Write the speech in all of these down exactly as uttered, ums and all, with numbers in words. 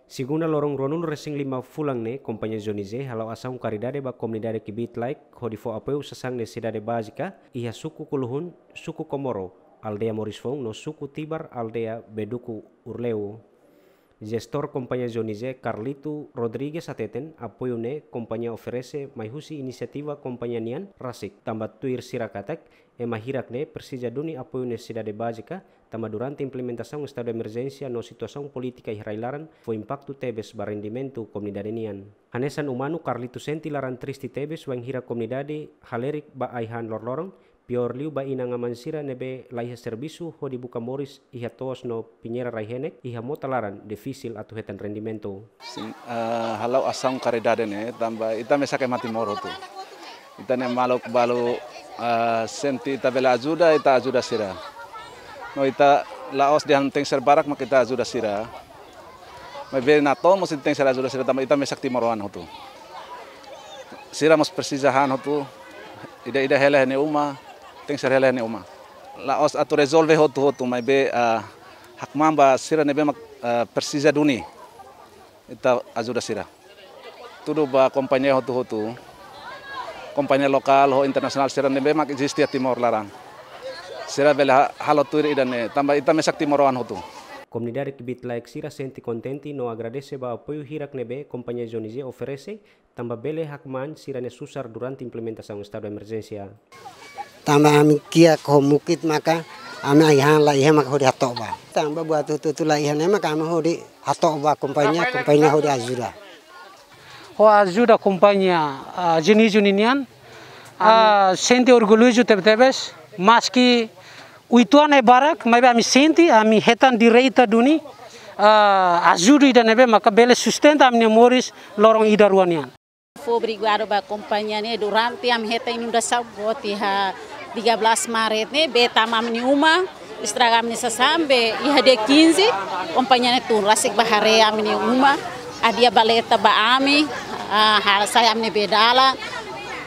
Segunda loron ruanulu resin lima fulan ne'e, Kompañia Johnny J hala'o asaun karidade ba komunidade Kbiit Laek, hodi fó apoiu sasán nesesidade bázika iha suku Kuluhun, suku Komoro, aldeia Moris Foun, no suku Tibar, aldeia Beduku Urleu. Jestór Kompañia Johnny J, Carlito Rodrigues hateten, apoiu ne'e kompañia oferese mai husi inisiativa kompañia nian rasik, tanba tuir sira katak, ema hirak ne'e presiza duni apoiu nesesidade bázika, tanba durante implementasaun estadu de emerjénsia no situasaun polítika iha rai-laran fó impaktu tebes ba rendimentu komunidade nian. Hanesan umanu, Carlito sente laran triste tebes wainhira komunidade halerik ba ai-han loroloron, piór liu ba inan-aman sira ne'ebé laiha servisu hodi buka moris iha to'os no pinheira rai-henek, iha mota laran difisil atu hetan rendimentu. Sin, ah, hala'o asaun karidade ne'e, tanba ita mesak ema Timor hotu. Ita-nia maluk balu, ah, sente ita bele ajuda, ita ajuda sira. No ita la'ós dehan tenke ser barak mak ita ajuda sira. Maibé natoon mós ita tenke ser ajuda sira tanba ita mesak timoroan hotu. Sira mós presiza han hotu, ida-ida hela iha nia uma, tenke ser hela iha nia uma. La'ós atu rezolve hotu-hotu, maibé, ah, hakmaan ba sira ne'ebé mak, ah, presiza duni ita ajuda sira. Tudu ba kompañia hotu-hotu, kompañia lokál ho internasionál sira ne'ebé mak eziste iha Timor laran. Sira bele ha-, halo tuir ida-ne'e, tanba ita mesak timoroan hotu. Komunidade Kbiit Laek sira sente kontente no agradese ba apoiu hirak ne'ebé Kompañia Johnny J oferese, tanba bele hakmaan sira-nia susar durante implementasaun estadu emerjénsia. Tanba ami kiak ho mukit maka ami ai-han laiha maka hodi hato'o ba. Tanba buat hotu-hotu laiha ne'e maka ami hodi hato'o ba kompañia, kompañia hodi ajuda. Ho ajuda kompañia, ah, Johnny J nian, ah, sente orgullozu tebe-tebes, maski uitoan ne'e barak, maibé ami sente, ami hetan direta duni, ah, ajuda ida ne'ebé maka bele sustenta ami-nia moris loron ida rua nian. Fó obrigadu ba kompañia ne'e durante ami hetan inundasaun boot iha tiga belas Maret ne'e, bee tama ami-nia uma, estraga ami-nia sasán, be iha dia quinze, kompañia ne'e tun rasik bá haree ami-nia uma, hadi'a baleta ba ami, ah, hasai ami-nia bee dalan,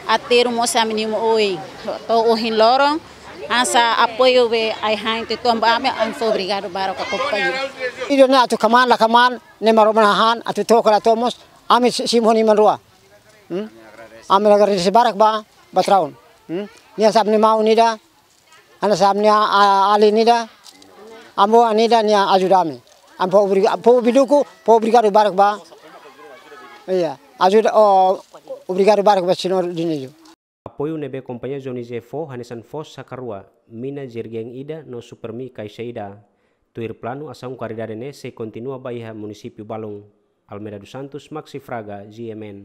aterru mós ami-nia uma oin. To'o ohin loron, hanesan apoiu be ai-han uitoan ba ami, ami fó obrigadu barak ba kompañia. Ida-ne'e atu kmaan la kmaan, ne'e Maromak nia han, atu to'o ka la to'o mós, ami si-, simu ho nia iman rua. Hmm? Ami agradese barak ba, ba Traun. Hmm? Nia hanesan ami-nia maun ida, hanesan ami-nia, ah, alin ida, avó ida nia ajuda ami. Ami fó obriga-, povu Beduku, fó obrigadu barak ba. Iya, ajuda, oh, obrigadu barak ba señór Dionísio. Apoiu ne'ebé kompañia Johnny J fó hanesan foos saka rua, mina jerrycan ida no Supermi kaixa ida. Tuir planu, asaun karidade ne'e sei kontinua ba iha munisípiu balun. Almeida dos Santos, Maxi Fraga, G M N.